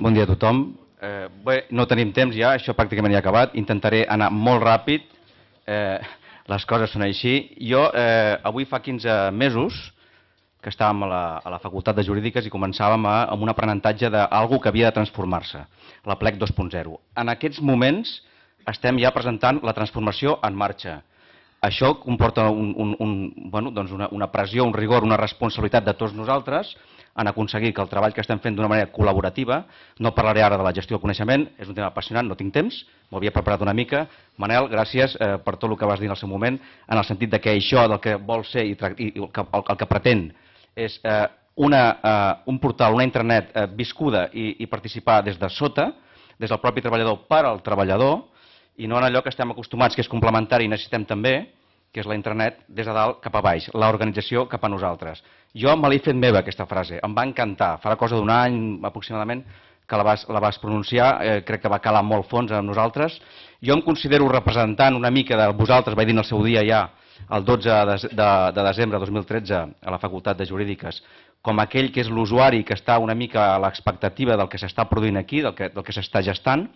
Bon dia a tothom. Bé, no tenim temps ja, això pràcticament ja ha acabat. Intentaré anar molt ràpid. Les coses són així. Jo avui fa 15 mesos que estàvem a la Facultat de Jurídiques i començàvem amb un aprenentatge d'algú que havia de transformar-se, la PLEC 2.0. En aquests moments estem ja presentant la transformació en marxa. Això comporta una pressió, un rigor, una responsabilitat de tots nosaltres en aconseguir que el treball que estem fent d'una manera col·laborativa, no parlaré ara de la gestió del coneixement, és un tema apassionant, no tinc temps, m'ho havia preparat una mica. Manel, gràcies per tot el que vas dir en el seu moment, en el sentit que això del que vol ser i el que pretén és un portal, una intranet viscuda i participar des de sota, des del propi treballador per al treballador, i no en allò que estem acostumats, que és complementari i necessitem també, que és la intranet des de dalt cap a baix, l'organització cap a nosaltres. Jo me l'he fet meva, aquesta frase, em va encantar. Farà cosa d'un any aproximadament que la vas pronunciar, crec que va calar molt fons amb nosaltres. Jo em considero representant una mica de vosaltres, vaig dir en el seu dia ja, el 12 de desembre de 2013, a la Facultat de Jurídiques, com aquell que és l'usuari que està una mica a l'expectativa del que s'està produint aquí, del que s'està gestant.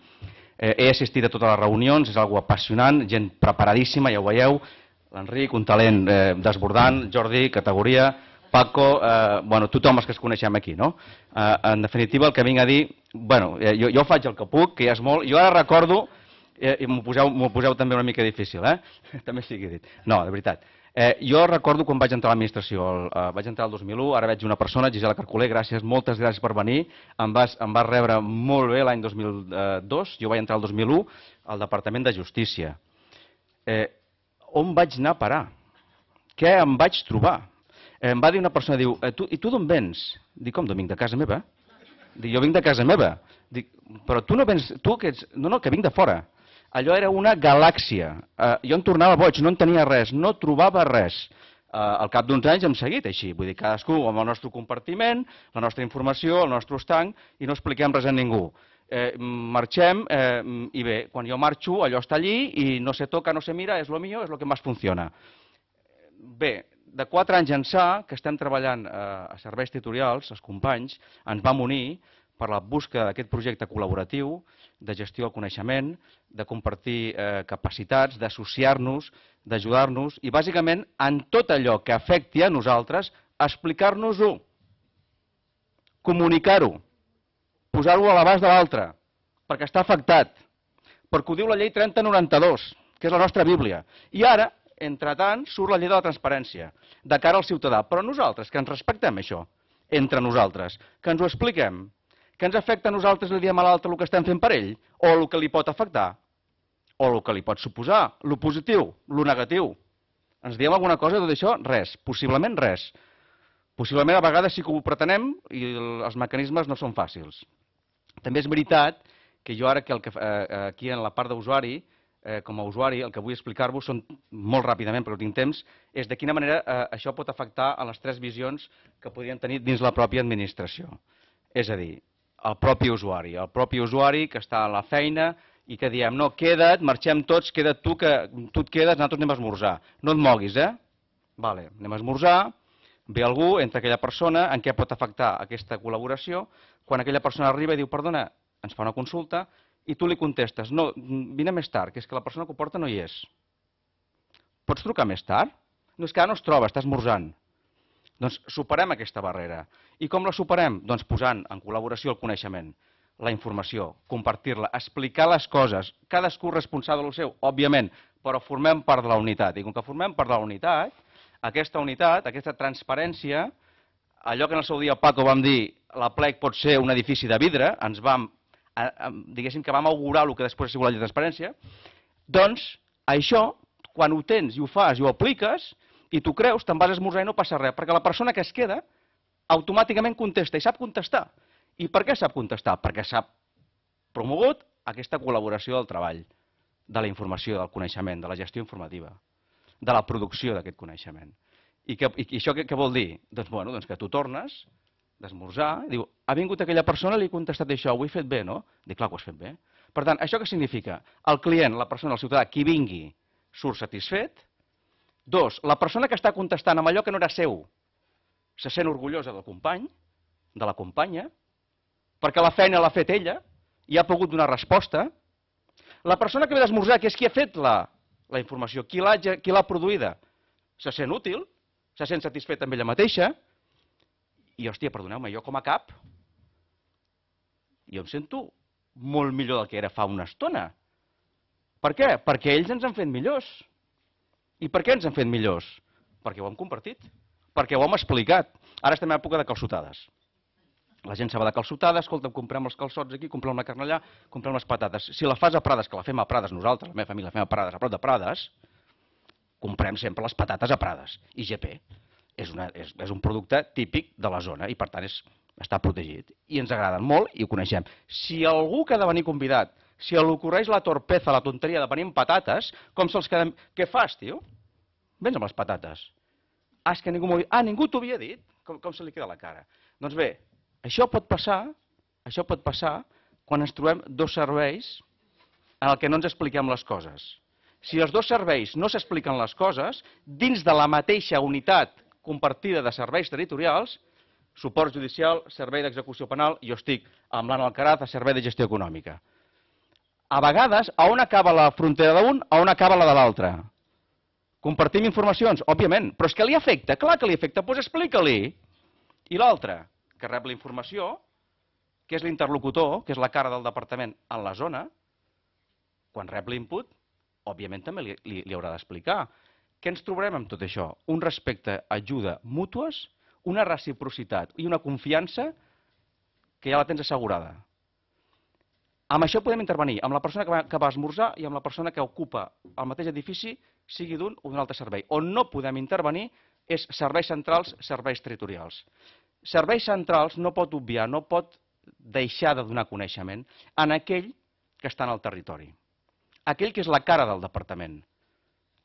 He assistit a totes les reunions, és algo apassionant, gent preparadíssima, ja ho veieu, l'Enric, un talent desbordant, Jordi, categoria, Paco, tothom els que es coneixem aquí, no? En definitiva, el que vinc a dir, jo faig el que puc, que ja és molt, jo ara recordo, i m'ho poseu també una mica difícil, també sigui dit, no, de veritat, jo recordo quan vaig entrar a l'administració, vaig entrar el 2001, ara veig una persona, Gisela Carcoler, gràcies, moltes gràcies per venir, em vas rebre molt bé l'any 2002, jo vaig entrar el 2001 al Departament de Justícia. On vaig anar a parar? Què em vaig trobar? Em va dir una persona, diu, i tu d'on vens? Dic, com, d'on vinc? De casa meva? Dic, jo vinc de casa meva. Dic, però tu no vens, tu que ets... No, que vinc de fora. Allò era una galàxia. Jo em tornava boig, no en tenia res, no trobava res. Al cap d'uns anys hem seguit així, vull dir, cadascú amb el nostre compartiment, la nostra informació, el nostre estanc, i no expliquem res a ningú. Marxem i bé, quan jo marxo allò està allí i no se toca, no se mira, és lo mío, és lo que més funciona. Bé, de 4 anys ençà que estem treballant a serveis territorials, els companys, ens vam unir per la busca d'aquest projecte col·laboratiu de gestió del coneixement, de compartir capacitats, d'associar-nos, d'ajudar-nos i bàsicament en tot allò que afecti a nosaltres, explicar-nos-ho, comunicar-ho, posar-ho a l'abast de l'altre, perquè està afectat, perquè ho diu la llei 3092, que és la nostra Bíblia. I ara, entretant, surt la llei de la transparència, de cara al ciutadà. Però nosaltres, que ens respectem això, entre nosaltres, que ens ho expliquem, que ens afecta a nosaltres, li diem a l'altre el que estem fent per ell, o el que li pot afectar, o el que li pot suposar, el positiu, el negatiu. Ens diem alguna cosa de tot això? Res, possiblement res. Possiblement a vegades sí que ho pretenem i els mecanismes no són fàcils. També és veritat que jo ara aquí en la part d'usuari, com a usuari, el que vull explicar-vos són, molt ràpidament, perquè no tinc temps, és de quina manera això pot afectar a les 3 visions que podrien tenir dins la pròpia administració. És a dir, el propi usuari que està a la feina i que diem, no, queda't, marxem tots, queda't tu, que tu et quedes, nosaltres anem a esmorzar. No et moguis, Vale, anem a esmorzar, ve algú, entra aquella persona, en què pot afectar aquesta col·laboració, quan aquella persona arriba i diu, perdona, ens fa una consulta, i tu li contestes, no, vine més tard, que és que la persona que ho porta no hi és. Pots trucar més tard? No, és que ara no es troba, està esmorzant. Doncs superem aquesta barrera. I com la superem? Doncs posant en col·laboració el coneixement, la informació, compartir-la, explicar les coses, cadascú responsable del seu, òbviament, però formem part de la unitat. I com que formem part de la unitat, aquesta transparència, allò que en el seu dia Paco vam dir, la PLEC pot ser un edifici de vidre, diguéssim que vam augurar el que després ha sigut la llei de transparència, doncs això, quan ho tens i ho fas i ho apliques, i tu creus, te'n vas a esmorzar i no passa res, perquè la persona que es queda automàticament contesta i sap contestar. I per què sap contestar? Perquè s'ha promogut aquesta col·laboració del treball, de la informació, del coneixement, de la gestió informativa, de la producció d'aquest coneixement. I això què vol dir? Doncs que tu tornes d'esmorzar, diu, ha vingut aquella persona i li he contestat això, ho he fet bé, no? Dic, clar que ho has fet bé. Per tant, això què significa? El client, la persona, el ciutadà, qui vingui, surt satisfet. 2, la persona que està contestant amb allò que no era seu, se sent orgullosa del company, de la companya, perquè la feina l'ha fet ella i ha pogut donar resposta. La persona que ve d'esmorzar, que és qui ha fet la informació, qui l'ha produïda, se sent útil, se sent satisfet amb ella mateixa, i, hòstia, perdoneu-me, jo com a cap, jo em sento molt millor del que era fa una estona. Per què? Perquè ells ens han fet millors. I per què ens han fet millors? Perquè ho hem compartit, perquè ho hem explicat. Ara estem en època de calçotades. La gent se va de calçotada, escolta, comprem els calçots aquí, comprem la carn allà, comprem les patates. Si la fas a Prades, que la fem a Prades nosaltres, la meva família la fem a Prades, a prop de Prades, comprem sempre les patates a Prades. IGP és un producte típic de la zona i, per tant, està protegit. I ens agraden molt i ho coneixem. Si algú que ha de venir convidat, si li ocorreix la torpeza, la tonteria de venir amb patates, com se'ls quedem... Què fas, tio? Vens amb les patates. És que ningú m'ho ha dit. Ah, ningú t'ho havia dit? Com se li queda la cara? Doncs bé, això pot passar quan ens trobem dos serveis en el que no ens expliquem les coses. Si els dos serveis no s'expliquen les coses, dins de la mateixa unitat compartida de serveis territorials, suport judicial, servei d'execució penal, jo estic amb l'Anna Alcaraz a servei de gestió econòmica. A vegades, a on acaba la frontera d'un, a on acaba la de l'altre? Compartim informacions? Òbviament, però és que li afecta, clar que li afecta, doncs explica-li. I l'altre, que rep la informació, que és l'interlocutor, que és la cara del departament en la zona, quan rep l'input, òbviament també li haurà d'explicar. Què ens trobarem amb tot això? Un respecte, ajuda mútues, una reciprocitat i una confiança que ja la tens assegurada. Amb això podem intervenir, amb la persona que va a esmorzar i amb la persona que ocupa el mateix edifici, sigui d'un o d'un altre servei. On no podem intervenir és serveis centrals, serveis territorials. Serveis centrals no pot obviar, no pot deixar de donar coneixement en aquell que està en el territori. Aquell que és la cara del departament.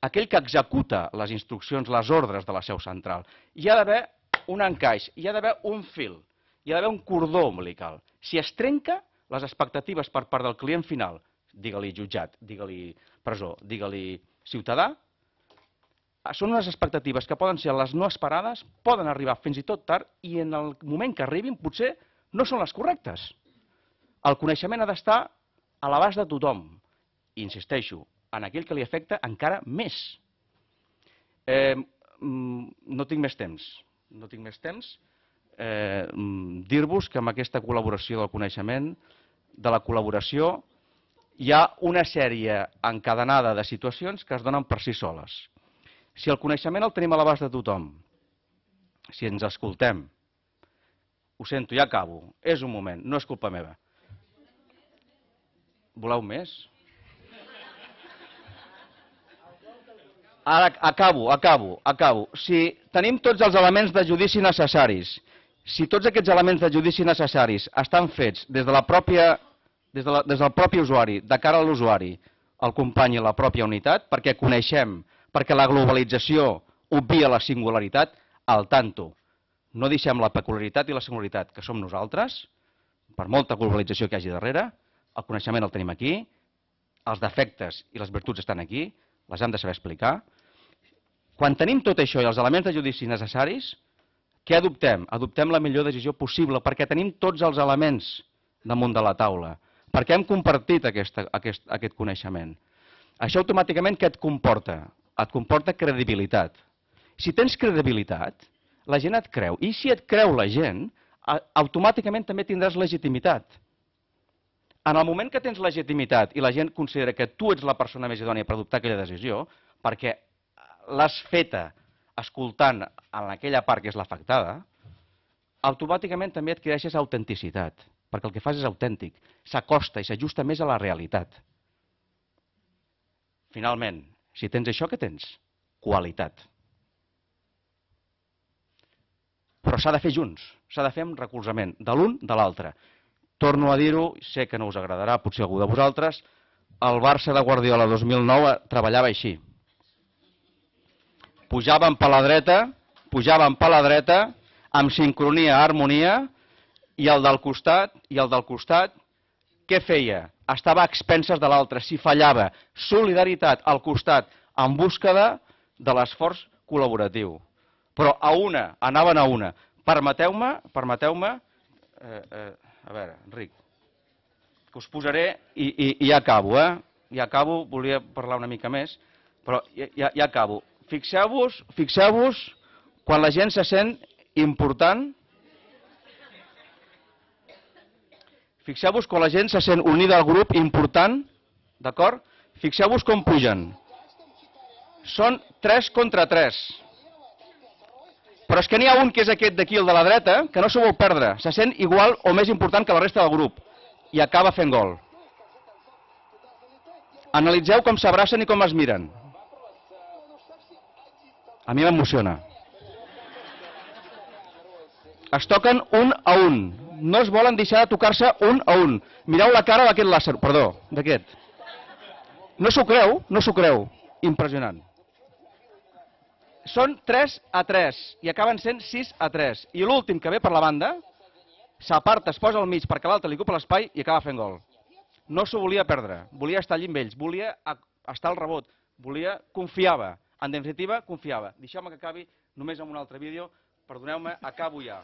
Aquell que executa les instruccions, les ordres de la seu central. Hi ha d'haver un encaix, hi ha d'haver un fil, hi ha d'haver un cordó umbilical. Si es trenca, les expectatives per part del client final, digue-li jutjat, digue-li presó, digue-li ciutadà, són unes expectatives que poden ser les no esperades, poden arribar fins i tot tard i en el moment que arribin potser no són les correctes. El coneixement ha d'estar a l'abast de tothom. I insisteixo, en aquell que li afecta encara més. No tinc més temps. No tinc més temps. Dir-vos que amb aquesta col·laboració del coneixement, de la col·laboració, hi ha una sèrie encadenada de situacions que es donen per si soles. Si el coneixement el tenim a l'abast de tothom, si ens escoltem, ho sento, ja acabo, és un moment, no és culpa meva. Voleu més? Ara acabo. Si tenim tots els elements de judici necessaris, si tots aquests elements de judici necessaris estan fets des del propi usuari, de cara a l'usuari, el company i la pròpia unitat, perquè coneixem, perquè la globalització obvia la singularitat, al tanto. No deixem la peculiaritat i la singularitat, que som nosaltres, per molta globalització que hi hagi darrere, el coneixement el tenim aquí, els defectes i les virtuts estan aquí, les hem de saber explicar. Quan tenim tot això i els elements de judici necessaris, què adoptem? Adoptem la millor decisió possible, perquè tenim tots els elements damunt de la taula, perquè hem compartit aquest coneixement. Això automàticament què et comporta? Et comporta credibilitat. Si tens credibilitat, la gent et creu. I si et creu la gent, automàticament també tindràs legitimitat. En el moment que tens legitimitat i la gent considera que tu ets la persona més idònia per adoptar aquella decisió, perquè l'has feta escoltant en aquella part que és l'afectada, automàticament també adquireixes autenticitat, perquè el que fas és autèntic, s'acosta i s'ajusta més a la realitat. Finalment, si tens això, què tens? Qualitat. Però s'ha de fer junts, s'ha de fer amb recolzament, de l'un de l'altre. Torno a dir-ho, sé que no us agradarà, potser algú de vosaltres, el Barça de Guardiola 2009 treballava així. Pujaven per la dreta, amb sincronia, harmonia, i el del costat, què feia? Estava a expenses de l'altre, si fallava, solidaritat al costat, en búsqueda de l'esforç col·laboratiu. Però anaven a una. Permeteu-me A veure, Enric, que us posaré i ja acabo, Ja acabo, volia parlar una mica més, però ja acabo. Fixeu-vos quan la gent se sent important. Fixeu-vos quan la gent se sent unida al grup important, d'acord? Fixeu-vos com pugen. Són 3 contra 3. Però és que n'hi ha un que és aquest d'aquí, el de la dreta, que no s'ho vol perdre. Se sent igual o més important que la resta del grup. I acaba fent gol. Analitzeu com s'abracen i com es miren. A mi m'emociona. Es toquen un a un. No es volen deixar de tocar-se un a un. Mireu la cara d'aquest làser. Perdó, d'aquest. No s'ho creu? No s'ho creu. Impressionant. Són 3 a 3 i acaben sent 6 a 3. I l'últim que ve per la banda s'aparta, es posa al mig perquè l'altre li ocupa l'espai i acaba fent gol. No s'ho volia perdre. Volia estar allí amb ells. Volia estar al rebot. Confiava. En definitiva, confiava. Deixeu-me que acabi només amb un altre vídeo. Perdoneu-me, acabo ja.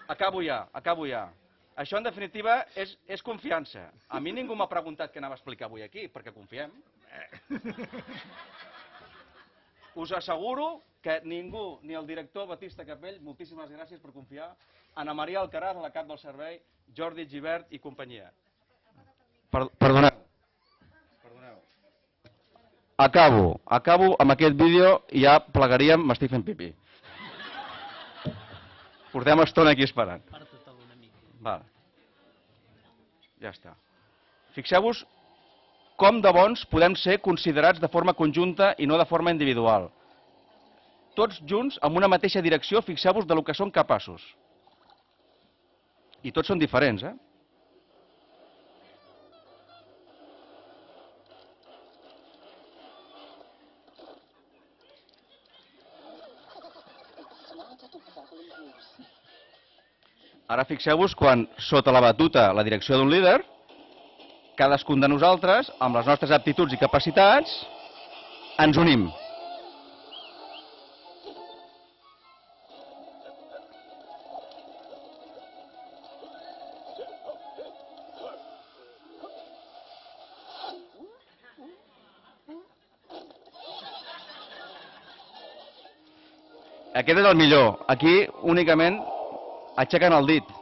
Acabo ja. Això, en definitiva, és confiança. A mi ningú m'ha preguntat què anava a explicar avui aquí, perquè confiem. Us asseguro que ningú, ni el director Batista Capell, moltíssimes gràcies per confiar, Ana Maria Alcaraz, a la cap del servei, Jordi Givert i companyia. Perdoneu. Acabo amb aquest vídeo i ja plegaríem, m'estic fent pipí. Portem estona aquí esperant. Val. Ja està. Fixeu-vos com de bons podem ser considerats de forma conjunta i no de forma individual. Tots junts, amb una mateixa direcció, fixeu-vos de lo que són capaços. I tots són diferents, Ara fixeu-vos quan, sota la batuta, la direcció d'un líder, cadascun de nosaltres, amb les nostres aptituds i capacitats, ens unim. Aquest és el millor. Aquí, únicament, aixequen el dit.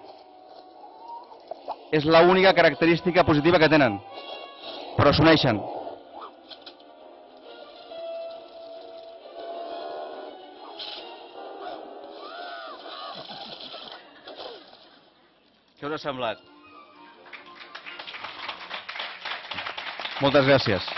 És l'única característica positiva que tenen. Però s'uneixen. Què us ha semblat? Moltes gràcies.